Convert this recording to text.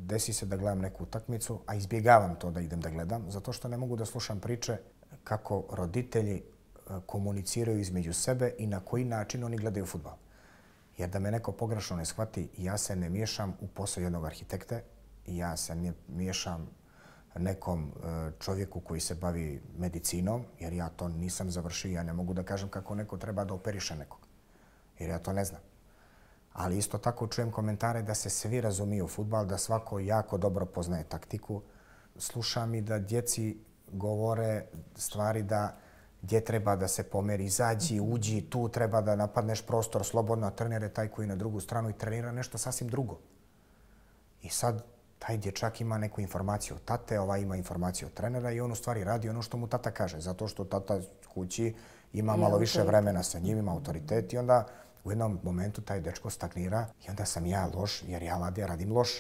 desi se da gledam neku utakmicu, a izbjegavam to da idem da gledam, zato što ne mogu da slušam priče kako roditelji komuniciraju između sebe i na koji način oni gledaju fudbal. Jer da me neko pogrešno ne shvati, ja se ne miješam u posao jednog arhitekte, ja se ne miješam nekom čovjeku koji se bavi medicinom, jer ja to nisam završio, ja ne mogu da kažem kako neko treba da operiše nekog, jer ja to ne znam. Ali isto tako čujem komentare da se svi razumiju u fudbal, da svako jako dobro poznaje taktiku. Slušam i da djeci govore stvari da gdje treba da se pomeri, izađi, uđi, tu treba da napadneš prostor slobodno, a trener je taj koji na drugu stranu i trenira nešto sasvim drugo. I sad taj dječak ima neku informaciju od tate, ovaj ima informaciju od trenera i on u stvari radi ono što mu tata kaže, zato što tata kući ima malo više vremena sa njim, ima autoritet i onda u jednom momentu taj dečko stagnira i onda sam ja loš jer ja radim loš.